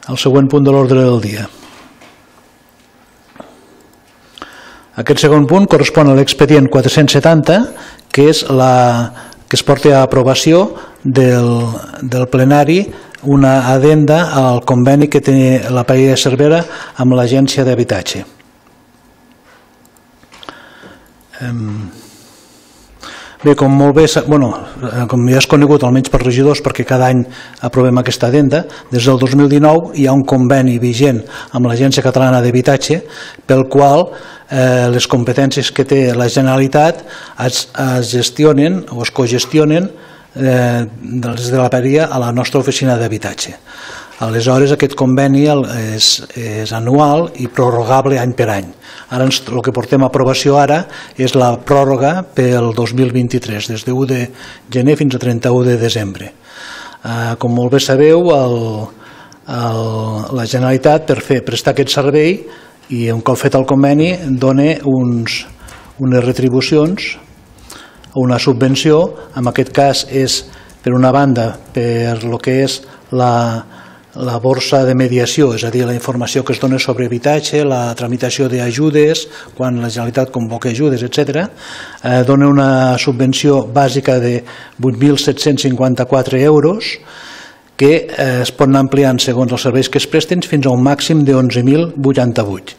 el següent punt de l'ordre del dia. Aquest segon punt correspon a l'expedient 470, que és que es porta a aprovació del plenari una addenda al conveni que té la Paella de Cervera amb l'Agència d'Habitatge. Bé, com ja és conegut, almenys per regidors, perquè cada any aprovem aquesta addenda, des del 2019 hi ha un conveni vigent amb l'Agència Catalana d'Habitatge pel qual les competències que té la Generalitat es gestionen o es cogestionen des de la Paella a la nostra oficina d'habitatge. Aleshores, aquest conveni és anual i prorrogable any per any. Ara el que portem a aprovació ara és la pròrroga pel 2023, des de 1 de gener fins a 31 de desembre. Com molt bé sabeu, la Generalitat, per prestar aquest servei, i un cop fet el conveni, dona unes retribucions, una subvenció. En aquest cas és, per una banda, per el que és la borsa de mediació, és a dir, la informació que es dona sobre habitatge, la tramitació d'ajudes, quan la Generalitat convoca ajudes, etc. Dona una subvenció bàsica de 8.754 euros, que es pot anar ampliant segons els serveis que es presten fins a un màxim de 11.088.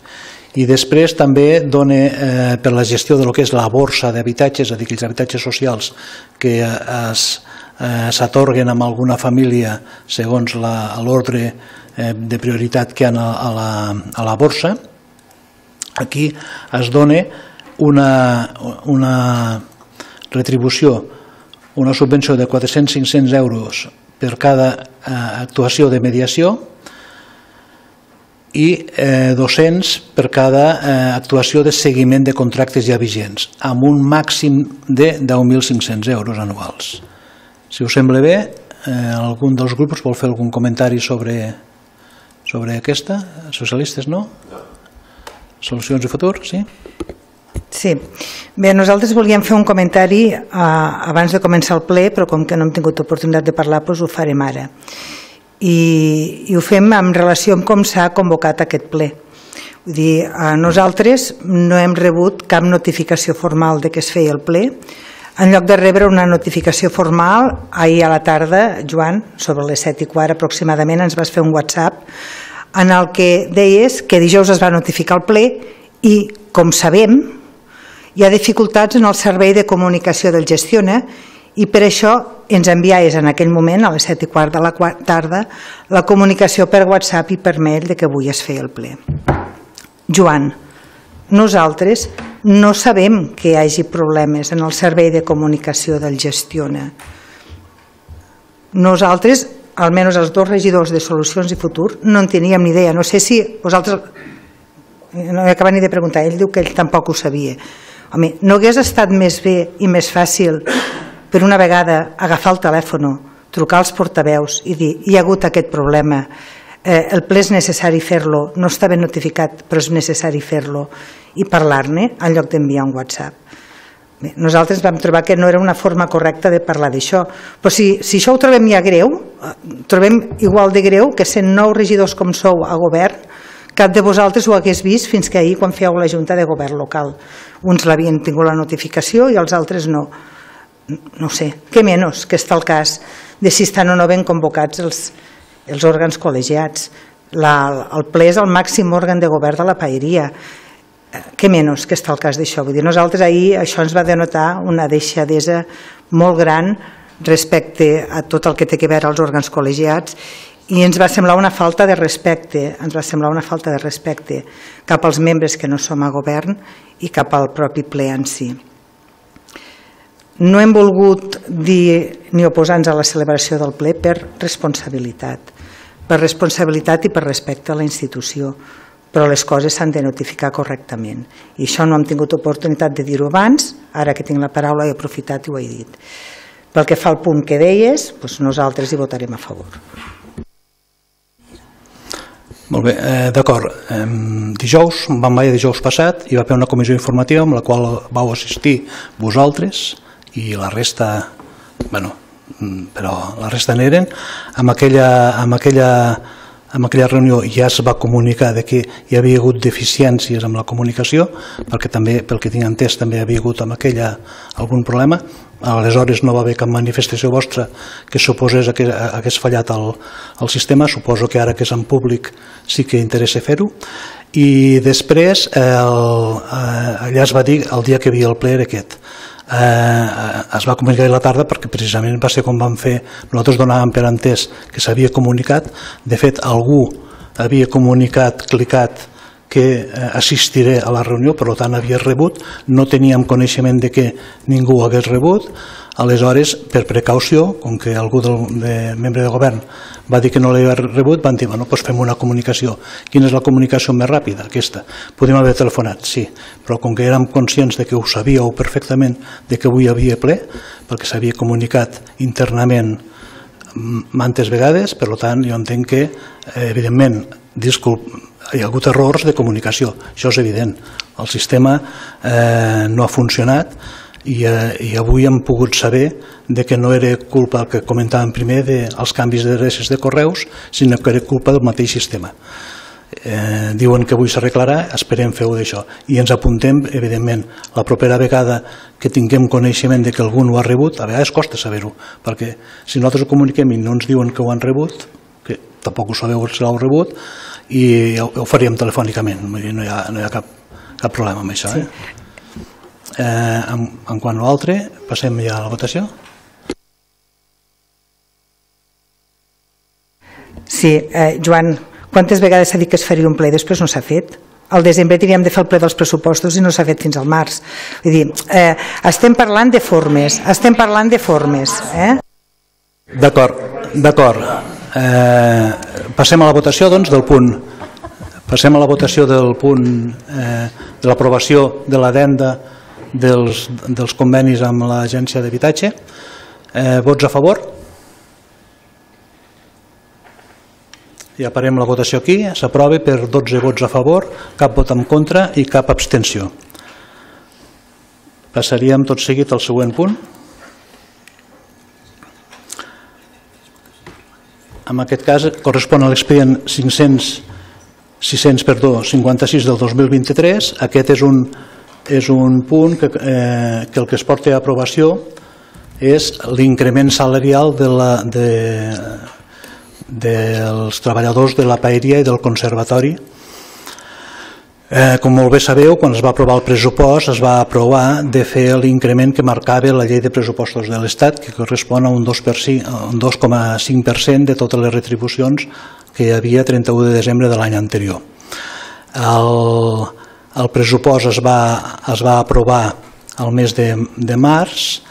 I després també dona per la gestió del que és la borsa d'habitatges, és a dir, aquells habitatges socials que s'atorguen a alguna família segons l'ordre de prioritat que hi ha a la borsa. Aquí es dona una retribució, una subvenció de 400-500 euros per cada actuació de mediació i 200 per cada actuació de seguiment de contractes ja vigents, amb un màxim de 10.500 euros anuals. Si us sembla bé, algun dels grups vol fer algun comentari sobre aquesta? Socialistes, no? Solucions i futur, sí? Sí. Bé, nosaltres volíem fer un comentari abans de començar el ple, però com que no hem tingut oportunitat de parlar, doncs ho farem ara. I ho fem en relació amb com s'ha convocat aquest ple. Vull dir, nosaltres no hem rebut cap notificació formal de que es feia el ple. En lloc de rebre una notificació formal, ahir a la tarda, Joan, sobre les 7:15 aproximadament, ens vas fer un WhatsApp en el que deies que dijous es va notificar el ple i, com sabem, hi ha dificultats en el servei de comunicació del Gestiona i per això ens enviaves en aquell moment, a les 7:15 de la tarda, la comunicació per WhatsApp i per mail de que avui es feia el ple. Joan, nosaltres no sabem que hi hagi problemes en el servei de comunicació del Gestiona. Nosaltres, almenys els dos regidors de Solucions i Futur, no en teníem ni idea. No sé si vosaltres... No he acabat ni de preguntar, ell diu que ell tampoc ho sabia. Home, no hagués estat més bé i més fàcil per una vegada agafar el telèfon, trucar als portaveus i dir hi ha hagut aquest problema, el ple és necessari fer-lo, no està ben notificat però és necessari fer-lo, i parlar-ne en lloc d'enviar un WhatsApp. Bé, nosaltres vam trobar que no era una forma correcta de parlar d'això, però si això ho trobem ja greu, trobem igual de greu que sent 9 regidors com sou a govern, cap de vosaltres ho hagués vist fins que ahir quan fèieu la Junta de Govern local. Uns l'havien tingut la notificació i els altres no. No sé, què menys que està el cas de si estan o no ben convocats els òrgans col·legiats. El ple és el màxim òrgan de govern de la paeria. Què menys que està el cas d'això? Vull dir, nosaltres ahir això ens va denotar una deixadesa molt gran respecte a tot el que té a veure als òrgans col·legiats i ens va semblar una falta de respecte, cap als membres que no som a govern i cap al propi ple en si. No hem volgut dir ni oposar-nos a la celebració del ple per responsabilitat i per respecte a la institució, però les coses s'han de notificar correctament. I això no hem tingut oportunitat de dir-ho abans, ara que tinc la paraula he aprofitat i ho he dit. Pel que fa al punt que deies, nosaltres hi votarem a favor. Molt bé, d'acord. Dijous, vam veure dijous passat, hi va haver una comissió informativa amb la qual vau assistir vosaltres i la resta, però la resta n'eren, amb aquella en aquella reunió ja es va comunicar que hi havia hagut deficiències amb la comunicació, perquè també, pel que tinc entès, també hi havia hagut amb aquella algun problema. Aleshores no va haver cap manifestació vostra que suposés que hagués fallat el sistema. Suposo que ara que és en públic sí que interessa fer-ho. I després allà es va dir el dia que hi havia el ple era aquest. Es va comunicar a la tarda perquè precisament va ser com vam fer, nosaltres donàvem per entès que s'havia comunicat. De fet, algú havia comunicat, clicat que assistiré a la reunió, per tant havia rebut, no teníem coneixement de que ningú ho hagués rebut. Aleshores, per precaució, com que algú membre de govern va dir que no l'havia rebut, van dir, bueno, doncs fem una comunicació. Quina és la comunicació més ràpida? Aquesta. Podem haver telefonat, sí, però com que érem conscients de que ho sabíeu perfectament de que avui hi havia ple, perquè s'havia comunicat internament mantes vegades, per tant, jo entenc que, evidentment, hi ha hagut errors de comunicació, això és evident. El sistema no ha funcionat i avui hem pogut saber que no era culpa, el que comentàvem primer, dels canvis d'adreces de correus, sinó que era culpa del mateix sistema. Diuen que avui s'arreglarà, esperem fer-ho d'això. I ens apuntem, evidentment, la propera vegada que tinguem coneixement de que algú no ho ha rebut, a vegades costa saber-ho, perquè si nosaltres ho comuniquem i no ens diuen que ho han rebut, que tampoc ho sabeu si l'heu rebut, i ho faríem telefònicament, no hi ha cap problema amb això. En quant a l'altre, passem ja a la votació. Sí, Joan, quantes vegades s'ha dit que es faria un ple, després no s'ha fet? Al desembre teníem de fer el ple dels pressupostos i no s'ha fet fins al març. Vull dir, estem parlant de formes, D'acord. Passem a la votació, doncs, del punt. Passem a la votació del punt de l'aprovació de l'addenda dels convenis amb l'Agència d'Habitatge. Vots a favor? Ja parem la votació aquí. S'aprova per 12 vots a favor, cap vot en contra i cap abstenció. Passaríem tot seguit al següent punt. En aquest cas correspon a l'expedient 656 del 2023. Aquest és un punt que el que es porta a aprovació és l'increment salarial dels treballadors de la paeria i del conservatori. Com molt bé sabeu, quan es va aprovar el pressupost es va aprovar de fer l'increment que marcava la llei de pressupostos de l'Estat, que correspon a un 2,5% de totes les retribucions que hi havia a 31 de desembre de l'any anterior. El pressupost es va aprovar al mes de març.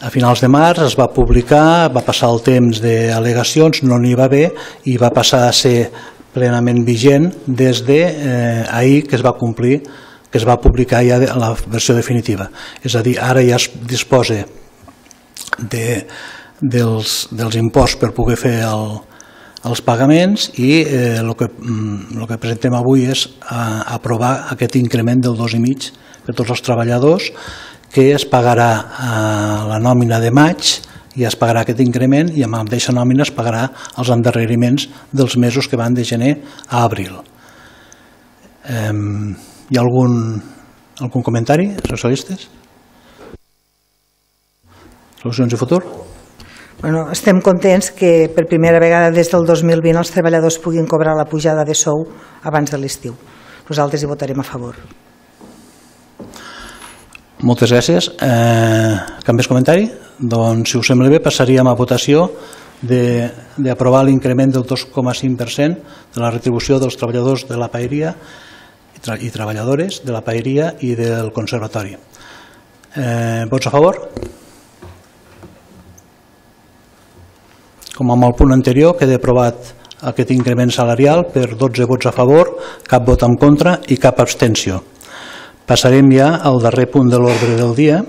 A finals de març es va publicar, va passar el temps d'al·legacions, no n'hi va haver i va passar a ser plenament vigent des d'ahir que es va complir, que es va publicar ja la versió definitiva. És a dir, ara ja es disposa dels imposts per poder fer els pagaments i el que presentem avui és aprovar aquest increment del 2,5% per tots els treballadors, que es pagarà a la nòmina de maig i es pagarà aquest increment i amb la mateixa nòmina es pagarà els endarreriments dels mesos que van de gener a abril. Hi ha algun comentari, socialistes? Solucions i futur? Bueno, estem contents que per primera vegada des del 2020 els treballadors puguin cobrar la pujada de sou abans de l'estiu. Nosaltres hi votarem a favor. Moltes gràcies. Cap més comentari? Doncs, si us sembla bé, passaríem a votació d'aprovar l'increment del 2,5% de la retribució dels treballadors de la paeria i treballadores de la paeria i del conservatori. Vots a favor? Com amb el punt anterior, queda aprovat aquest increment salarial per 12 vots a favor, cap vot en contra i cap abstenció. Passarem ja al darrer punt de l'ordre del dia,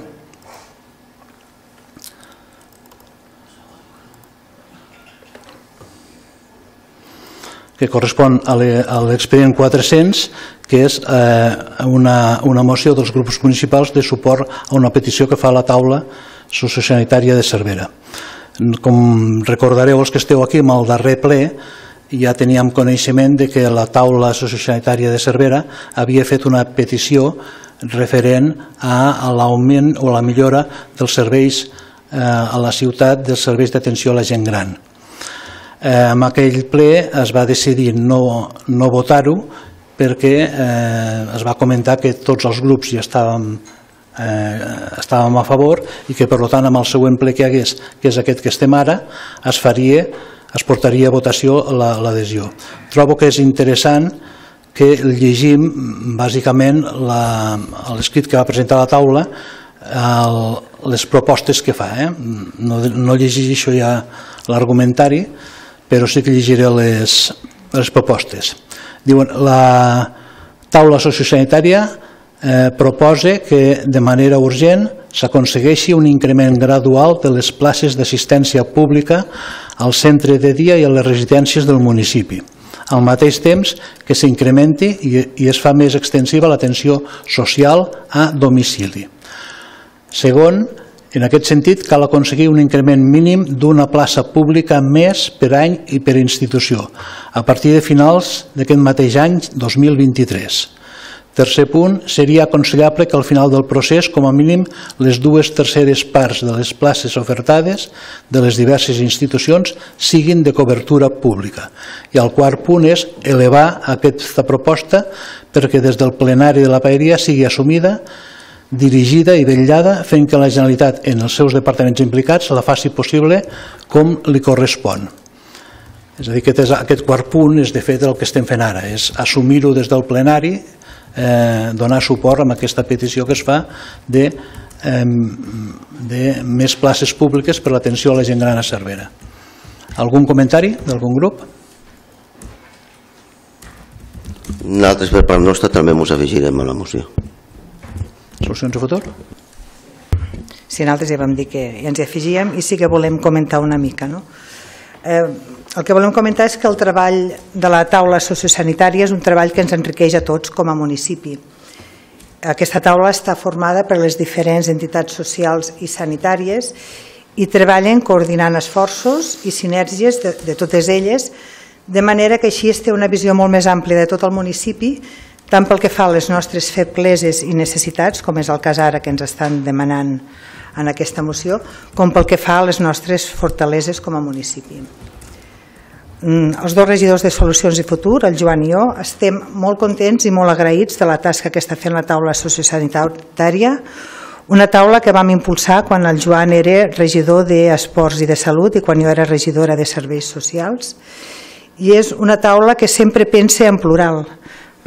que correspon a l'expedient 400, que és una moció dels grups municipals de suport a una petició que fa la taula sociosanitària de Cervera. Com recordareu els que esteu aquí, amb el darrer ple ja teníem coneixement de que la taula sociosanitària de Cervera havia fet una petició referent a l'augment o la millora dels serveis a la ciutat, dels serveis d'atenció a la gent gran. En aquell ple es va decidir no votar-ho perquè es va comentar que tots els grups ja estàvem a favor i que per tant amb el següent ple que hi hagués, que és aquest que estem ara, es portaria a votació l'adhesió. Trobo que és interessant que llegim bàsicament l'escrit que va presentar la taula, les propostes que fa. No llegeixo ja l'argumentari, però sí que llegiré les propostes. Diuen, la taula sociosanitària proposa que de manera urgent s'aconsegueixi un increment gradual de les places d'assistència pública al centre de dia i a les residències del municipi, al mateix temps que s'incrementi i es fa més extensiva l'atenció social a domicili. Segon, en aquest sentit, cal aconseguir un increment mínim d'una plaça pública més per any i per institució, a partir de finals d'aquest mateix any 2023. Tercer punt, seria aconsellable que al final del procés, com a mínim, les 2/3 parts de les places ofertades de les diverses institucions siguin de cobertura pública. I el quart punt és elevar aquesta proposta perquè des del plenari de la paeria sigui assumida, dirigida i vetllada, fent que la Generalitat en els seus departaments implicats la faci possible com li correspon. És a dir, aquest quart punt és de fet el que estem fent ara, és assumir-ho des del plenari, donar suport a aquesta petició que es fa de més places públiques per l'atenció a la gent gran a Cervera. Algun comentari d'algun grup? Nosaltres per part nostra també ens afegirem a la moció. Solucions de futur? Sí, nosaltres ja vam dir que ja ens hi afegíem i sí que volem comentar una mica. El que volem comentar és que el treball de la taula sociosanitària és un treball que ens enriqueix a tots com a municipi. Aquesta taula està formada per les diferents entitats socials i sanitàries i treballen coordinant esforços i sinergies de totes elles, de manera que així es té una visió molt més àmplia de tot el municipi, tant pel que fa a les nostres febleses i necessitats, com és el cas ara que ens estan demanant en aquesta moció, com pel que fa a les nostres fortaleses com a municipi. Els dos regidors de Solucions i Futur, el Joan i jo, estem molt contents i molt agraïts de la tasca que està fent la taula sociosanitària, una taula que vam impulsar quan el Joan era regidor d'Esports i de Salut i quan jo era regidora de Serveis Socials, i és una taula que sempre pensa en plural,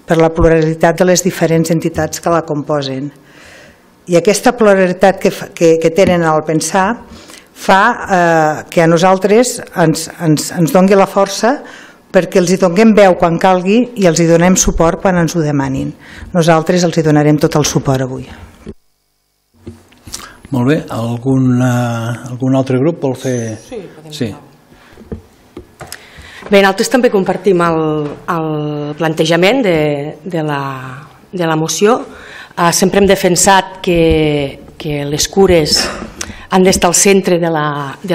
per la pluralitat de les diferents entitats que la composen. I aquesta pluralitat que tenen al pensar fa que a nosaltres ens doni la força perquè els hi donem veu quan calgui i els hi donem suport quan ens ho demanin. Nosaltres els hi donarem tot el suport avui. Molt bé. Algun altre grup vol fer? Sí. Bé, nosaltres també compartim el plantejament de la moció. Sempre hem defensat que les cures han d'estar al centre de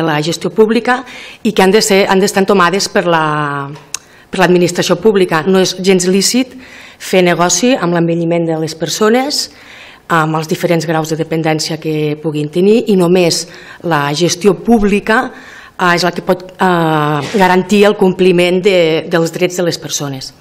la gestió pública i que han d'estar entomades per l'administració pública. No és gens lícit fer negoci amb l'envelliment de les persones, amb els diferents graus de dependència que puguin tenir, i només la gestió pública és la que pot garantir el compliment dels drets de les persones.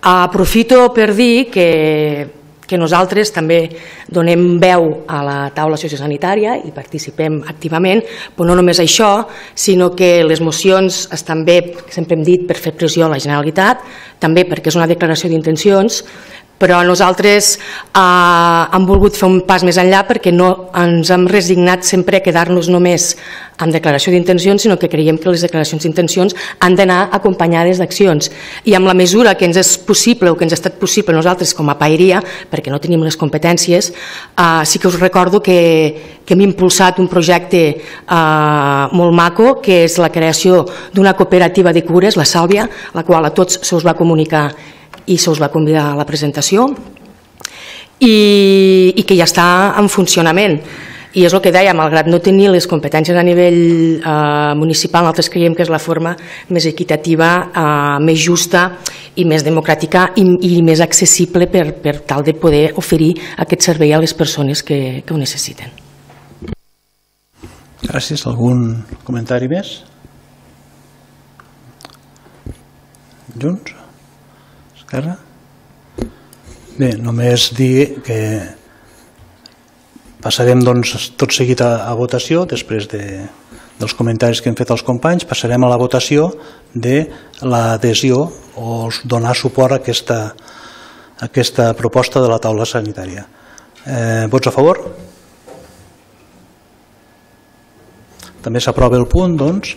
Aprofito per dir que nosaltres també donem veu a la taula sociosanitària i participem activament, però no només això, sinó que les mocions estan bé, sempre hem dit, per fer pressió a la Generalitat, també perquè és una declaració d'intencions, però nosaltres hem volgut fer un pas més enllà perquè no ens hem resignat sempre a quedar-nos només amb declaració d'intencions, sinó que creiem que les declaracions d'intencions han d'anar acompanyades d'accions. I amb la mesura que ens és possible o que ens ha estat possible nosaltres com a paeria, perquè no tenim les competències, sí que us recordo que hem impulsat un projecte molt maco, que és la creació d'una cooperativa de cures, la Sàlvia, la qual a tots se us va comunicar i se us va convidar a la presentació, i que ja està en funcionament. I és el que deia, malgrat no tenir les competències a nivell municipal, nosaltres creiem que és la forma més equitativa, més justa i més democràtica i més accessible per tal de poder oferir aquest servei a les persones que ho necessiten. Gràcies. Algun comentari més? Junts? Esquerra? Bé, només dir que passarem tot seguit a votació, després dels comentaris que hem fet els companys, passarem a la votació de l'adhesió o donar suport a aquesta proposta de la taula sanitària. Vots a favor? També s'aprova el punt, doncs,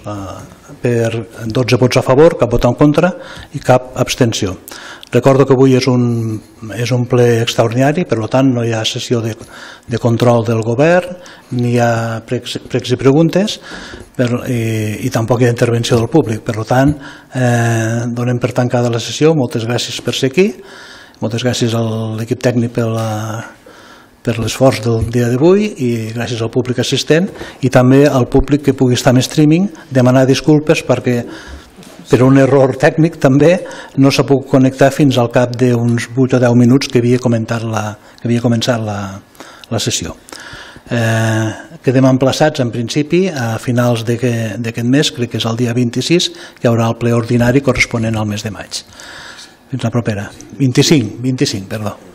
per 12 vots a favor, cap vot en contra i cap abstenció. Recordo que avui és un ple extraordinari, per tant no hi ha sessió de control del govern, ni hi ha pregs i preguntes i tampoc hi ha intervenció del públic. Per tant, donem per tancada la sessió. Moltes gràcies per ser aquí, moltes gràcies a l'equip tècnic per l'esforç del dia d'avui i gràcies al públic assistent i també al públic que pugui estar en streaming, demanar disculpes perquè per un error tècnic també no s'ha pogut connectar fins al cap d'uns 8 o 10 minuts que havia començat la sessió. Quedem emplaçats en principi a finals d'aquest mes, crec que és el dia 26, que hi haurà el ple ordinari corresponent al mes de maig. Fins la propera. 25, perdó.